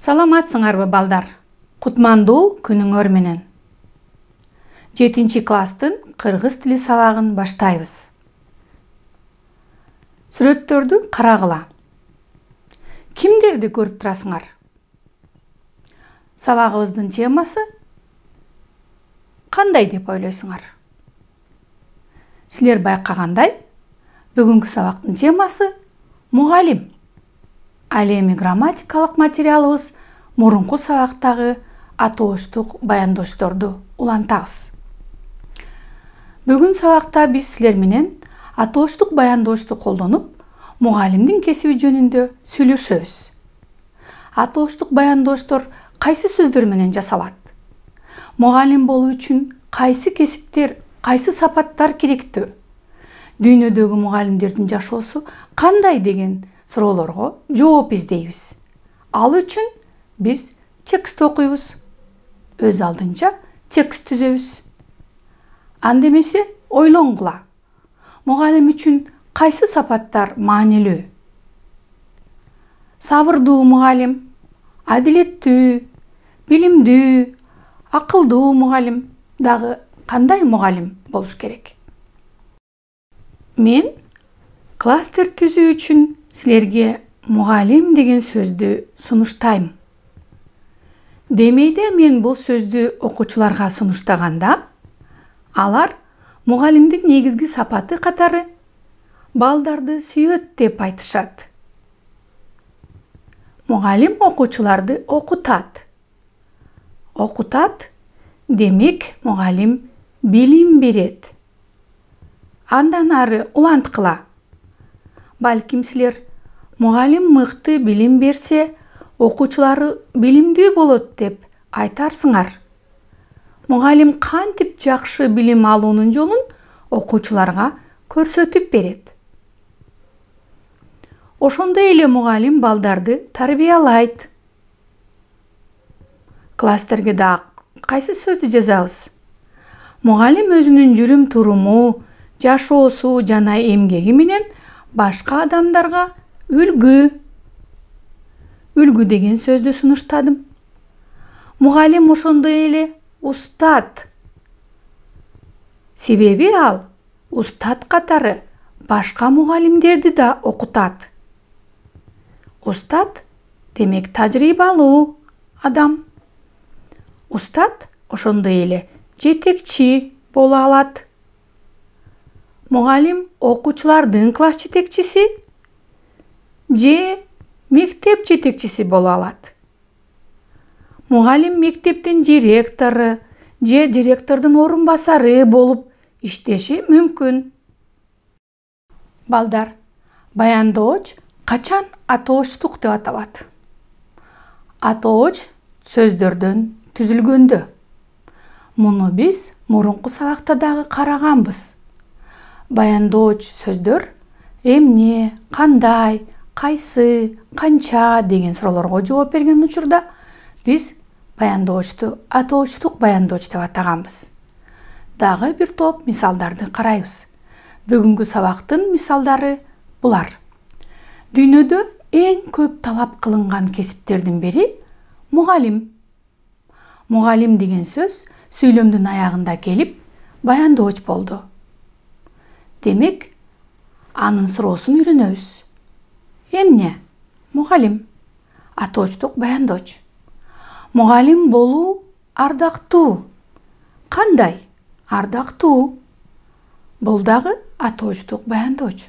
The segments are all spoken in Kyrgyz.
Саламатсыңарбы балдар? Кутмандуу күнүңөр менен. 7-класстын кыргыз тили сабагын баштайбыз. Сүрөттөрдү карагыла. Кимдерди көрүп турасыңар? Сабагыбыздын темасы кандай деп ойлойсуңар? Силер байкагандай, бүгүнкү сабактын темасы мугалим. Ал эми грамматикалык материалыбыз мурунку сабактагы атоочтук баяндоочторду улантабыз. Бүгүн сабакта биз силер менен атоочтук баяндоочту колдонуп, мугалимдин кесиби жөнүндө сүйлөшөбүз. Атоочтук баяндоочтор кайсы сөздөр менен жасалат? Мугалим болуу үчүн кайсы кесиптер, кайсы сапаттар керектүү? Дүйнөдөгү мугалимдердин жашоосу кандай деген суроолорго жооп издейбиз. Ал үчүн биз текст окуйбуз. Өз алдынча текст түзөбүз. Анда эмесе ойлонгула. Мугалим үчүн кайсы сапаттар маанилүү? Сабырдуу мугалим, адилеттүү, билимдүү, акылдуу мугалим дагы кандай мугалим болуш керек? Мен кластер түзүү үчүн силерге мугалим деген сөздү сунуштайм. Демейде мен бул сөздү окуучуларга сунуштаганда, алар мугалимдин негизги сапаты катары балдарды сүйөт деп айтышат. Мугалим окуучуларды окутат. Окутат, демек мугалим билим берет. Андан ары уланткыла. Балким силер мугалим мыкты билим берсе, окуучулары билимдүү болот деп айтарсыңар. Мугалим кантип жакшы билим алуунун жолун окуучуларга көрсөтүп берет. Ошондой эле мугалим балдарды тарбиялайт. Класстерге да кайсы сөздү жазабыз? Мугалим өзүнүн жүрүм-туруму, жашоосу жана эмгеги менен башка адамдарга үлгү. Үлгү деген сөздү сунуштадым. Мугалим ошондой эле устат. Себеби ал устат катары башка мугалимдерди да окутат. Устат демек тажрыйбалуу адам. Устат ошондой эле жетекчи боло алат. Мугалим окуучулардын класс жетекчиси же мектеп жетекчиси боло алат. Мугалим мектептин директору же директордун орун басары болуп иштеши мүмкүн. Балдар, баяндооч качан атоочтук деп аталат? Атооч сөздөрдөн түзүлгөндө. Муну биз мурунку сабакта дагы караганбыз. Баяндооч сөздөр эмне, кандай, кайсы, канча деген суроолорго жооп берген учурда биз баяндоочту атоочтук баяндооч деп атаганбыз. Дагы бир топ мисалдарды карайбыз. Бүгүнкү сабактын мисалдары булар. Дүйнөдө эң көп талап кылынган кесиптердин бири мугалим. Мугалим деген сөз сүйлөмдүн аягында келип, баяндооч болду. Демек, анын суроосун үйрөнөбүз. Эмне? Мугалим. Атоочтук баяндооч. Мугалим болуу ардактуу. Кандай? Ардактуу. Бул дагы атоочтук баяндооч.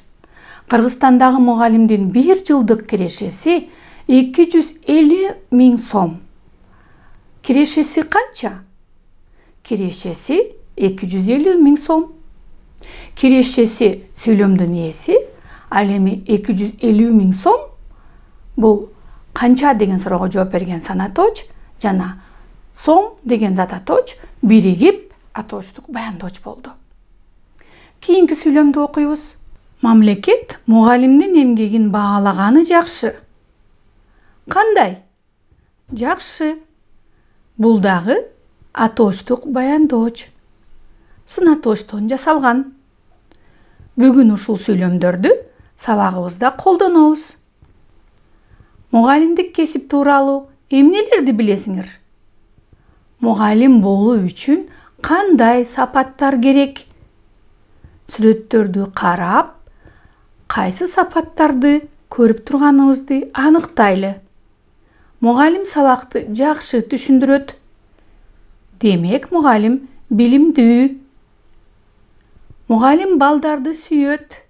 Кыргызстандагы мугалимдин 1 жылдык кирешеси 250 000 сом. Кирешеси канча? Кирешеси 250 000 сом. Кирешеси сүйлөмдүн ээси, ал эми 250 000 сом. Бул канча деген суроого жооп берген санатооч жана сом деген зататооч биригип атоочтук баяндооч болду. Кийинки сүйлөмдү окуйбуз. Мамлекет мугалимдин эмгегин баалаганы жакшы. Кандай? Жакшы. Бул дагы атоочтук баяндооч. Сынатоочтон жасалган. Бүгүн ушул сүйлөмдөрдү сабагыбызда колдонобуз. Мугалимдик кесип тууралуу эмнелерди билесиңер? Мугалим болуу үчүн кандай сапаттар керек? Сүрөттөрдү карап, кайсы сапаттарды көрүп турганыбызды аныктайлы. Мугалим сабакты жакшы түшүндүрөт. Демек, мугалим билимдүү. Мугалим балдарды сүйөт.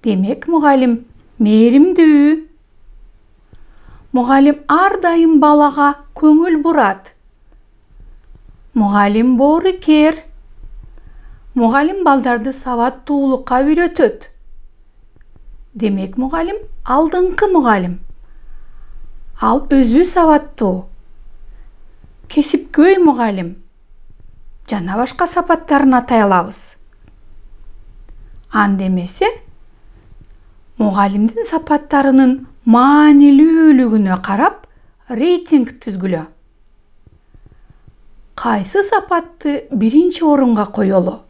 Демек, мугалим мээримдүү. Мугалим ар дайым балага көңүл бурат. Мугалим боорукер. Мугалим балдарды сабаттуулукка үйрөтөт. Демек, мугалим алдыңкы мугалим. Ал өзү сабаттуу. Кесипкөй мугалим. Жана башка сапаттарын атай алабыз. Анда эмесе, мугалимдин сапаттарынын маанилүүлүгүнө карап рейтинг түзгүлө. Кайсы сапатты биринчи орунга коелу?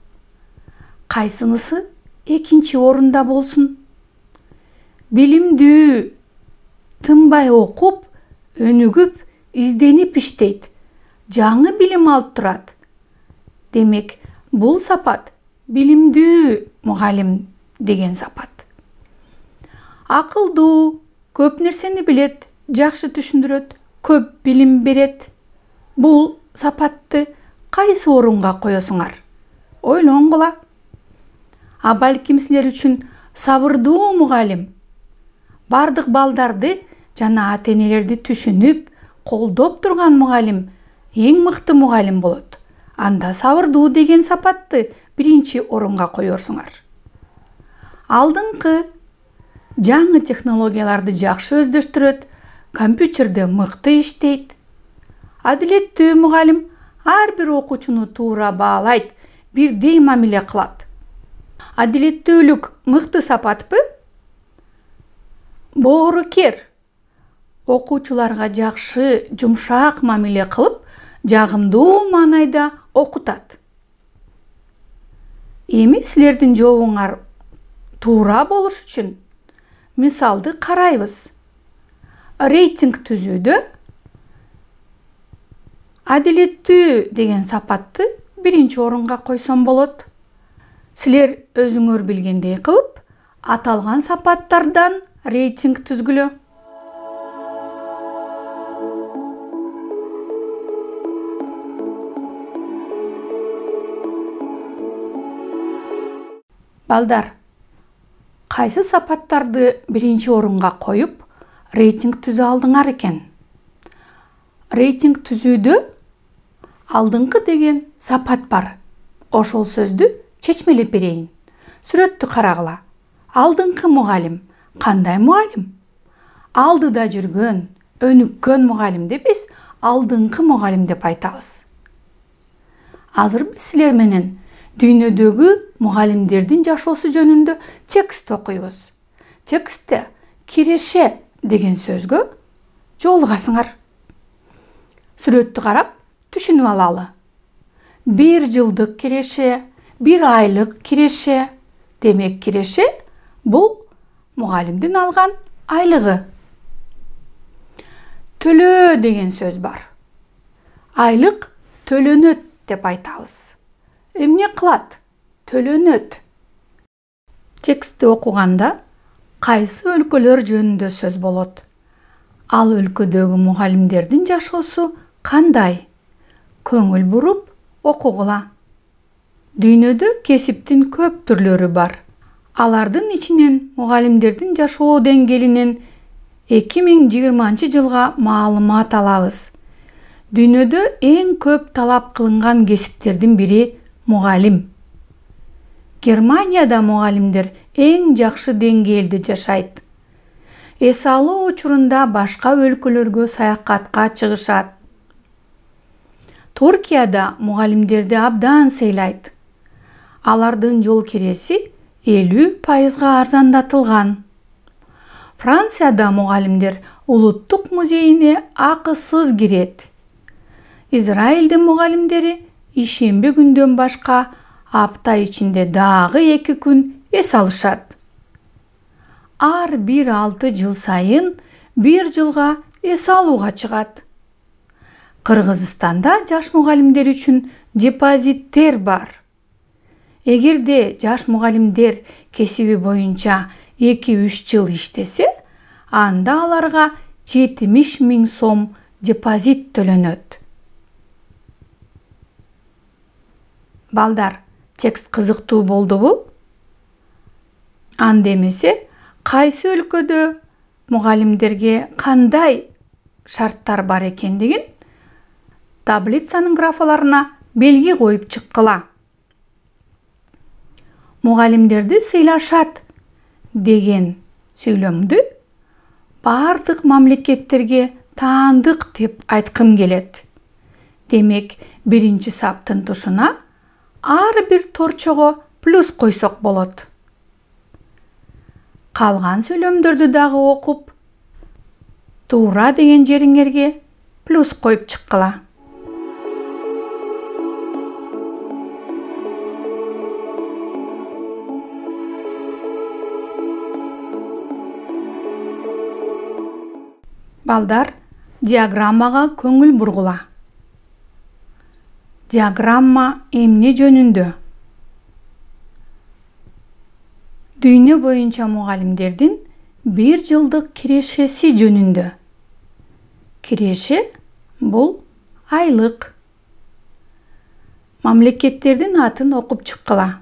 Кайсынысы экинчи орунда болсун? Билимдүү, тынбай окуп, өнүгүп, изденип иштейт, жаңы билим алып турат. Демек, бул сапат билимдүү мугалим деген сапат. Акылдуу, көп нерсени билет, жакшы түшүндүрөт, көп билим берет. Бул сапатты кайсы орунга коесуңар? Ойлонгула. А балким силер үчүн сабырдуу мугалим, бардык балдарды жана ата-энелерди түшүнүп, колдоп турган мугалим эң мыкты мугалим болот. Анда сабырдуу деген сапатты биринчи орунга коерсуңар. Алдыңкы жаңы технологияларды жакшы өздөштүрөт, компьютерде мыкты иштейт. Адилеттүү мугалим ар бир окуучуну туура баалайт, бирдей мамиле кылат. Адилеттүүлүк мыкты сапатпы? Боорукер. Окуучуларга жакшы, жумшак мамиле кылып, жагымдуу маанайда окутат. Эми силердин жообуңар туура болуш үчүн мисалды карайбыз. Рейтинг түзүүдө адилеттүү деген сапатты биринчи орунга койсом болот. Силер өзүңөр билгендей кылып, аталган сапаттардан рейтинг түзгүлө. Балдар, кайсы сапаттарды биринчи орунга коюп, рейтинг түзө алдыңар экен? Рейтинг түзүүдө алдыңкы деген сапат бар. Ошол сөздү чечмелеп берейин. Сүрөттү карагыла. Алдыңкы мугалим. Кандай мугалим? Алдыда жүргөн, өнүккөн мугалимди биз алдыңкы мугалим деп айтабыз. Азыр биз силер менен дүйнөдөгү мугалимдердин жашоосу жөнүндө текст окуйбуз. Текстте киреше деген сөзгө жолугасыңар. Сүрөттү карап түшүнүп алалы. 1 жылдык киреше, 1 айлык киреше. Демек, киреше бул мугалимдин алган айлыгы. Төлөө деген сөз бар. Айлык төлөнөт деп айтабыз. Эмне кылат? Төлөнөт. Текстти окуганда кайсы өлкөлөр жөнүндө сөз болот? Ал өлкөдөгү мугалимдердин жашоосу кандай? Көңүл буруп окугула. Дүйнөдө кесиптин көп түрлөрү бар. Алардын ичинен мугалимдердин жашоо деңгээлинен 2020 жылга маалымат алабыз. Дүйнөдө эң көп талап кылынган кесиптердин бири мугалим. Германияда мугалимдер эң жакшы деңгээлде жашайт. Эс алуу учурунда башка өлкөлөргө саякатка чыгышат. Туркияда мугалимдерди абдан сыйлайт. Алардын жол киреси 50% арзандатылган. Францияда мугалимдер улуттук музейине акысыз кирет. Израилдин мугалимдери ишемби күндөн башка апта ичинде дагы 2 күн эс алышат. Ар бир 6 жыл сайын 1 жылга эс алууга чыгат. Кыргызстанда жаш мугалимдер үчүн депозиттер бар. Эгерде жаш мугалимдер кесиби боюнча 2-3 жыл иштесе, анда аларга 70 000 сом депозит төлөнөт. Балдар, текст кызыктуу болдубу? Анда эмесе, кайсы өлкөдө мугалимдерге кандай шарттар бар экендигин таблицанын графаларына белги коюп чыккыла. Мугалимдерди сыйлашат деген сүйлөмдү бардык мамлекеттерге таандык деп айткым келет. Демек, биринчи саптын тушуна ар бир торчого плюс койсок болот. Калган сүйлөмдөрдү дагы окуп, туура деген жериңерге плюс коюп чыккыла. Балдар, диаграммага көңүл бургула. Диаграмма эмне жөнүндө? Дүйнө боюнча мугалимдердин 1 жылдык кирешеси жөнүндө. Киреше бул айлык. Мамлекеттердин атын окуп чыккыла.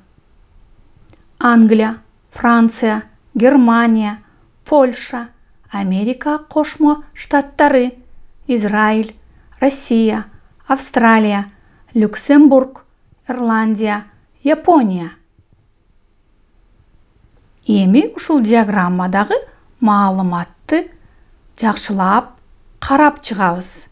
Англия, Франция, Германия, Польша, Америка кошмо штаттары, Израиль, Россия, Австралия, Люксембург, Ирландия, Япония. Эми ушул диаграммадагы маалыматты жакшылап карап чыгабыз.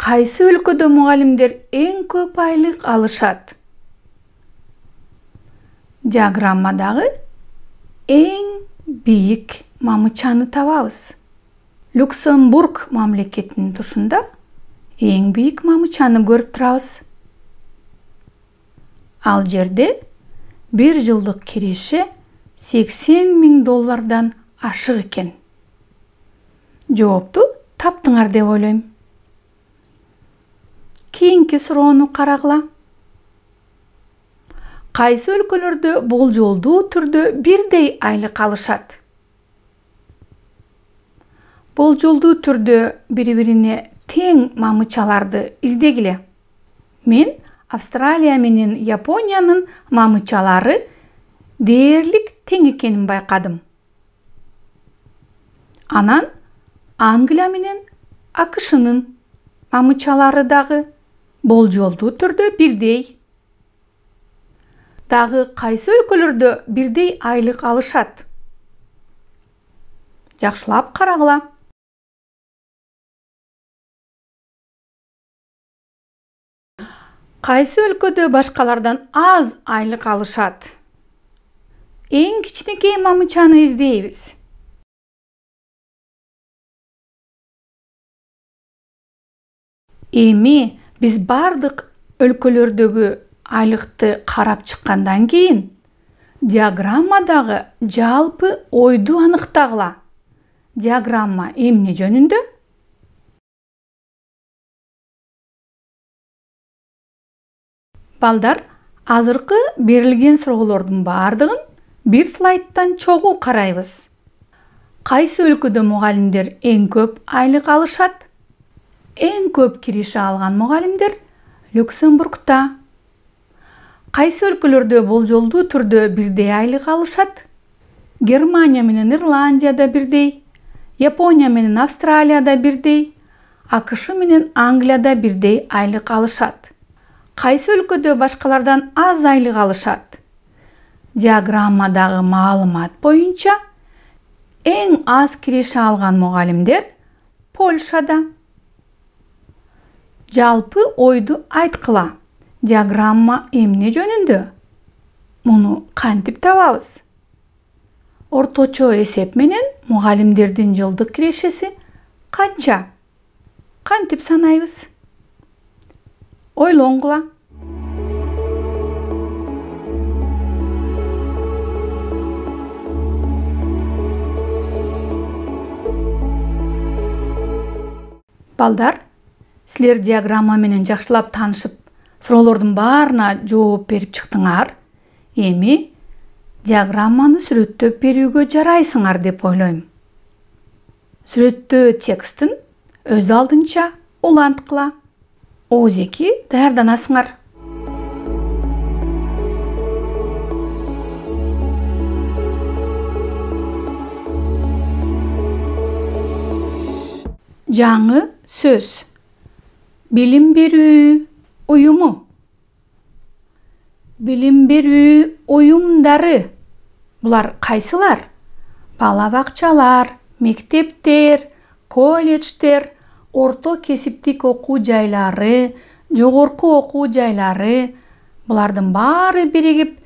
Кайсы өлкөдө мугалимдер эң көп айлык алышат? Диаграммадагы эң бийик мамычаны табабыз. Люксембург мамлекетинин тушунда эң бийик мамычаны көрүп турабыз. Ал жерде 1 жылдык киреше $80,000 ашык экен. Жоопту таптыңар деп ойлойм. Кийинки суроону карагыла. Кайсы өлкөлөрдө болжолдуу түрдө бирдей айлык алышат? Болжолдуу түрдө бири-бирине тең мамычаларды издегиле. Мен Австралия менен Япониянын мамычалары дээрлик тең экенин байкадым. Анан Англия менен АКШнын мамычалары дагы болжолдуу түрдө бирдей. Дагы кайсы өлкөлөрдө бирдей айлык алышат? Жакшылап карагыла. Кайсы өлкөдө башкалардан аз айлык алышат? Эң кичинекей мамычаны издейбиз. Эми биз бардык өлкөлөрдөгү айлыкты карап чыккандан кийин диаграммадагы жалпы ойду аныктагыла. Диаграмма эмне жөнүндө? Балдар, азыркы берилген суроолордун бардыгын бир слайдтан чогуу карайбыз. Кайсы өлкөдө мугалимдер эң көп айлык алышат? Эң көп киреше алган мугалимдер Люксембургда. Кайсы өлкөлөрдө болжолдуу түрдө бирдей айлык алышат? Германия менен Ирландияда бирдей, Япония менен Австралияда бирдей, АКШ менен Англияда бирдей айлык алышат. Кайсы өлкөдө башкалардан аз айлык алышат? Диаграммадагы маалымат боюнча эң аз киреше алган мугалимдер Польшада. Жалпы ойду айткыла. Диаграмма эмне жөнүндө? Муну кантип табабыз? Орточо эсеп менен мугалимдердин жылдык кирешеси канча? Кантип санайбыз? Ойлонгула. Балдар, силер диаграмма менен жакшылап таанышып, суроолордун баарына жооп берип чыктыңар. Эми диаграмманы сүрөттөп берүүгө жарайсыңар деп ойлойм. Сүрөттөө текстин өз алдынча уланткыла. Оозеки даярданасыңар. Жаңы сөз. Билим берүү уюму. Билим берүү уюмдары. Булар кайсылар? Бала бакчалар, мектептер, колледждер, орто кесиптик окуу жайлары, жогорку окуу жайлары. Булардын баары биригип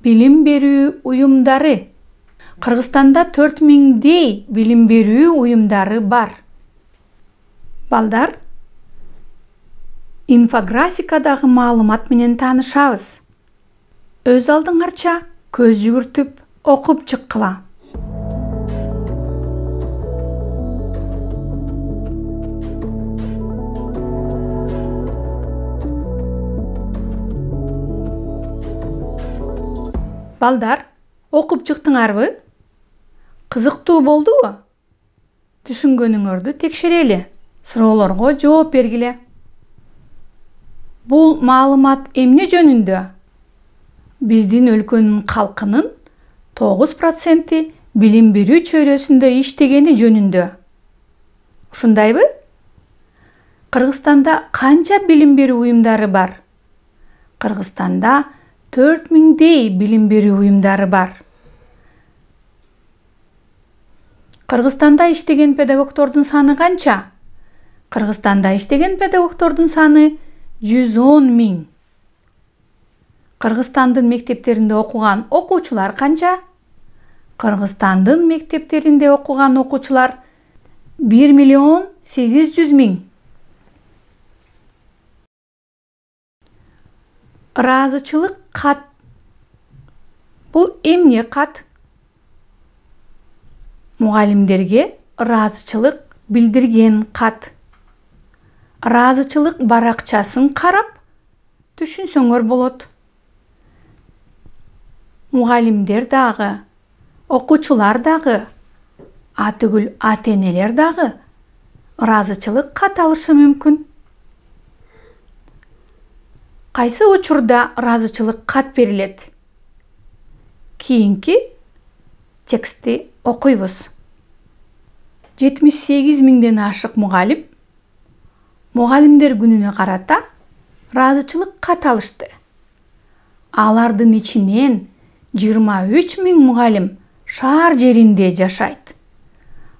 билим берүү уюмдары. Кыргызстанда 4000дей билим берүү уюмдары бар. Балдар, инфографикадагы маалымат менен таанышабыз. Өз алдыңарча көз жүгүртүп окуп чыккыла. Балдар, окуп чыктыңарбы? Кызыктуу болдубу? Түшүнгөнүңөрдү текшерели. Суроолорго жооп бергиле. Бул маалымат эмне жөнүндө? Биздин өлкөнүн калкынын 9% билим берүү чөйрөсүндө иштегени жөнүндө. Ушундайбы? Кыргызстанда канча билим берүү уюмдары бар? Кыргызстанда 4000дей билим берүү уюмдары бар. Кыргызстанда иштеген педагогдордун саны канча? Кыргызстанда иштеген педагогдордун саны 110 000. Кыргызстандын мектептеринде окуган окуучулар канча? Кыргызстандын мектептеринде окуган окуучулар 1 800 000. Ыраазычылык кат. Бул эмне кат? Мугалимдерге ыраазычылык билдирген кат. Ыраазычылык баракчасын карап түшүнсөңөр болот. Мугалимдер дагы, окуучулар дагы, атүгүл ата-энелер дагы ыраазычылык кат алышы мүмкүн. Кайсы учурда ыраазычылык кат берилет? Кийинки текстти окуйбуз. 78 000ден ашык мугалим Мугалимдер күнүнө карата ыраазычылык кат алышты. Алардын ичинен 23 000 мугалим шаар жеринде жашайт.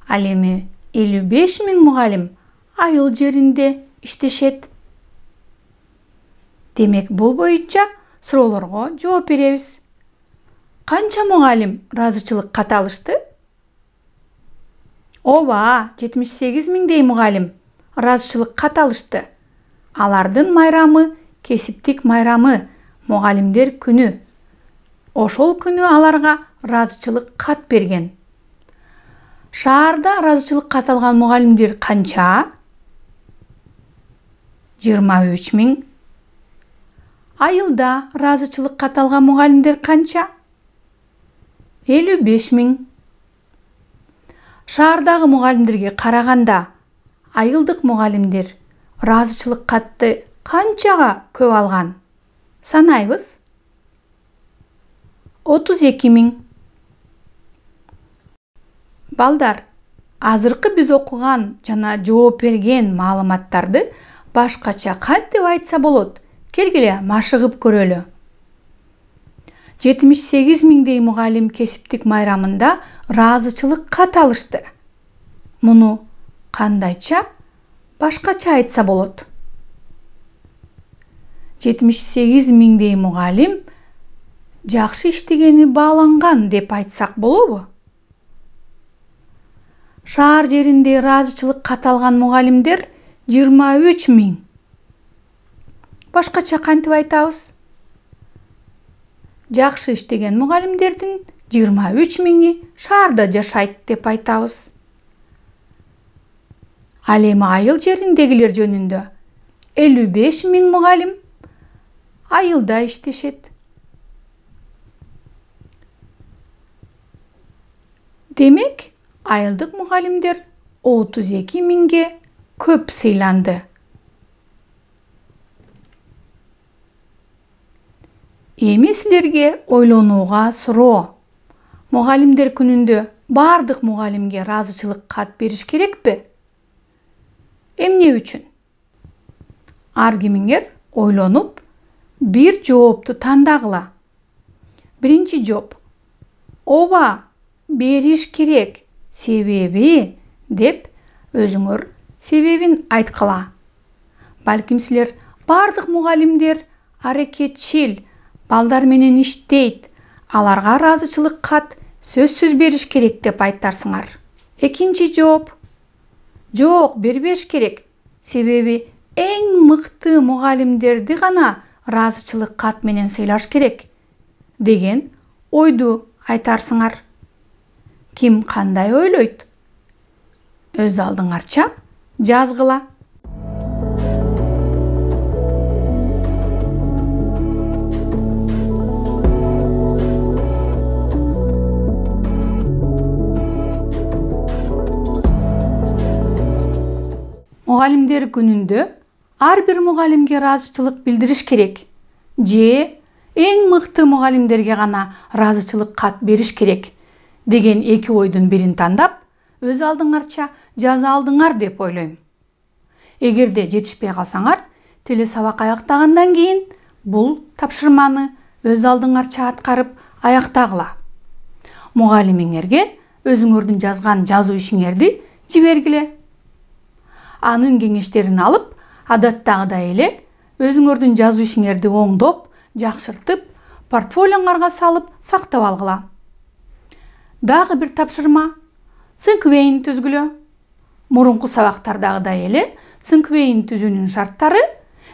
Ал эми 55 000 мугалим айыл жеринде иштешет. Демек, бул боюнча суроолорго жооп беребиз. Канча мугалим ыраазычылык кат алышты? Ооба, 78 000дей мугалим ыраазычылык кат алышты. Алардын майрамы кесиптик майрамы, мугалимдер күнү. Ошол күнү аларга ыраазычылык кат берген. Шаарда ыраазычылык кат алган мугалимдер канча? 23 000. Айылда ыраазычылык кат алган мугалимдер канча? 55 000. Шаардагы мугалимдерге караганда айылдык мугалимдер ыраазычылык катты канчага көп алган? Санайбыз. 32 000. Балдар, азыркы биз окуган жана жооп берген маалыматтарды башкача кантип айтса болот? Келгиле, машыгып көрөлү. 78 000дей мугалим кесиптик майрамында ыраазычылык кат алышты. Муну кандайча башкача айтса болот? 78 000дей мугалим жакшы иштегени бааланган деп айтсак болобу? Шаар жеринде ыраазычылык кат алган мугалимдер 23 000. Башкача кантип айтабыз? Жакшы иштеген мугалимдердин 23 000 шаарда жашайт деп айтабыз. Ал эми айыл жериндегилер жөнүндө 55 000 мугалим айылда иштешет. Демек, айылдык мугалимдер 32 000ге көп сыйланды. Эми силерге ойлонууга суроо. Мугалимдер күнүндө бардык мугалимге ыраазычылык кат бериш керекпи? Эмне үчүн? Ар кимиңер ойлонуп, бир жоопту тандагыла. Биринчи жооп: ооба, бериш керек. Себеби деп өзүңөр себебин айткыла. Балким силер бардык мугалимдер аракетчил, балдар менен иштейт, аларга ыраазычылык кат сөзсүз бериш керек деп айтарсыңар. Экинчи жооп: жок, бербеш керек. Себеби эң мыкты мугалимдерди гана ыраазычылык кат менен сыйлаш керек деген ойду айтарсыңар. Ким кандай ойлойт? Өз алдыңарча жазгыла. Мугалимдер күнүндө ар бир мугалимге ыраазычылык билдириш керек же эң мыкты мугалимдерге гана ыраазычылык кат бериш керек деген эки ойдун бирин тандап, өз алдыңарча жаза алдыңар деп ойлойм. Эгерде жетишпей калсаңар, теле сабак аяктагандан кийин бул тапшырманы өз алдыңарча аткарып аяктагыла. Мугалимиңерге өзүңөрдүн жазган жазуу ишиңерди жибергиле. Анын кеңештерин алып, адаттагыдай эле өзүңөрдүн жазуу ишиңерди оңдоп, жакшыртып, портфолиоңарга салып сактап алгыла. Дагы бир тапшырма: синквейн түзгүлө. Мурунку сабактардагыдай эле синквейн түзүүнүн шарттары: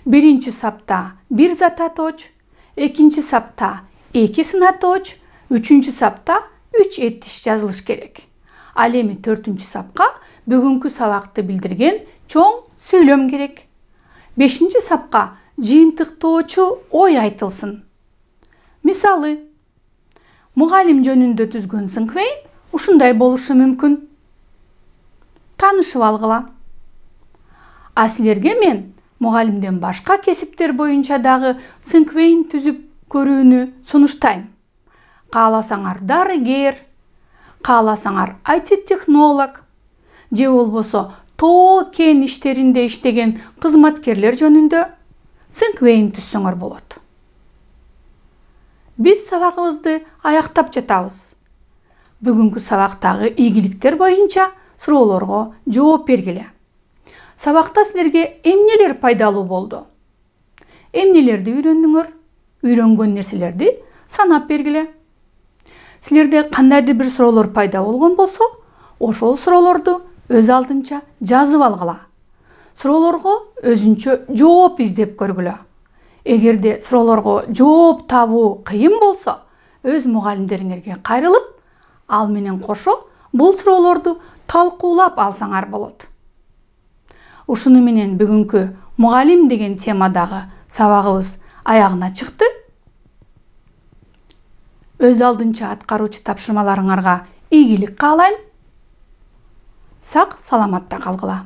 биринчи сапта 1 зататооч, экинчи сапта 2 сынатооч, үчүнчү сапта 3 этиш жазылыш керек. Ал эми 4-үнчү сапка бүгүнкү сабакты билдирген чоң сүйлөм керек. 5-чи сапка жыйынтыктоочу ой айтылсын. Мисалы, мугалим жөнүндө түзгөн синквейн ушундай болушу мүмкүн. Таанышып алгыла. А силерге мен мугалимден башка кесиптер боюнча дагы синквейн түзүп көрүүнү сунуштайм. Кааласаңар дарыгер, кааласаңар IT-технолог, же болбосо тоо кен иштеринде иштеген кызматкерлер жөнүндө синквейн түзсөңөр болот. Биз сабагыбызды аяктап жатабыз. Бүгүнкү сабактагы ийгиликтер боюнча суроолорго жооп бергиле. Сабакта силерге эмнелер пайдалуу болду? Эмнелерди үйрөндүңөр? Үйрөнгөн нерселерди санап бергиле. Силерде кандайдыр бир суроолор пайда болгон болсо, ошол суроолорду өз алдынча жазып алгыла. Суроолорго өзүнчө жооп издеп көргүлө. Эгерде суроолорго жооп табуу кыйын болсо, өз мугалимдериңерге кайрылып, ал менен кошо бул суроолорду талкуулап алсаңар болот. Ушуну менен бүгүнкү мугалим деген темадагы сабагыбыз аягына чыкты. Өз алдынча аткаруучу тапшырмаларыңарга ийгилик каалайм. Сак саламатта калгыла.